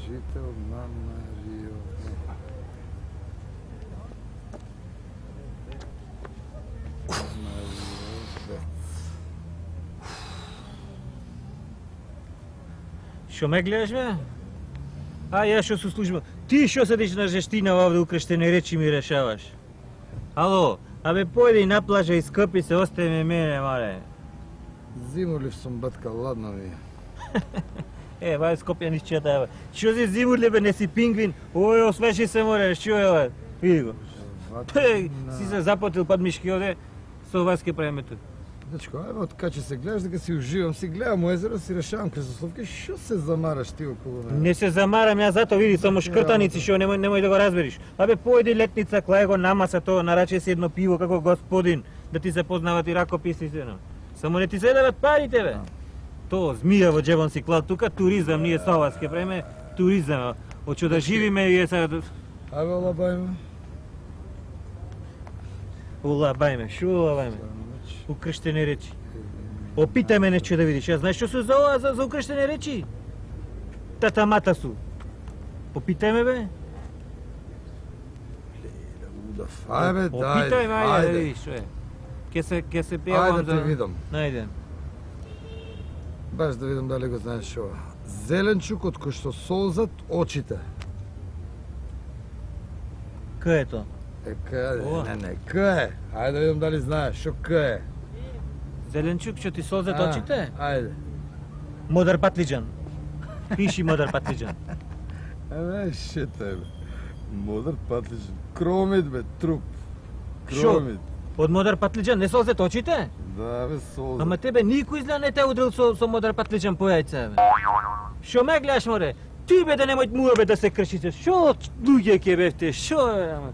жител на Марио. Шо ме гледаш, бе? А, ја шо су служба. Ти шо седиш на жештина овде укрештени речи ми решаваш? Ало, абе појди на плажа и скъпи се, остај ме мене, мале. Зимурлив сум, батка, ладно ми. Вај Скопје низ чета, бе. Шо си зимурлив, бе, не си пингвин? Ој, освежи се, море, шо е, бе? Види го. Си се запотил пад мишки оде, со вас ке правиме тук. Дечко, ајде, откај че се гледаш дека си уживам, си гледам езеро, си решавам кресословки, шо се замараш ти околу мене? Не се замарам, ја зато види, само шкртаници, шо немој да го разбериш. Абе, појди летница, клај го намаса то, нараче си едно пиво како господин, да ти се познават и ракописи се, но. Само не ти се дават парите, бе. То, змија во джебон си клал, тука туризам, ние со вас ке правиме туризам, очо да живиме и сега... Абе, олабајме. Улабајме, шо улабајме? Укрштени речи. Опитај ме нече да видиш, ја знаеш што се за ова за укрштени речи? Татамата су. Опитај ме, бе. Ајде, Опитај ме, ајде да видиш, што е. Ке се пијавам Ајде да видам. Најде. Баш да видам дали го знаеш ова. Зеленчук од кој што солзат очите. Кај е то? Не, кај е? Ајде да видам дали знаеш, шо кај е? Зеленчук што ти солзат очите? Ајде. Модар патлиџан. Пиши модар патлиџан. Абе, шете, бе. Модар патлиџан. Кромит, бе, труп. Шо? Кромит. Од модар патлиџан не солзат очите? Да, бе, солзат. Ама тебе никој изгледа не те удрил со модар патлиџан по јајца, бе. Шо ме гледаш, море? Ти бе да немој муа бе да се кршите. Шо луѓе ке бевте? Шо е, ама?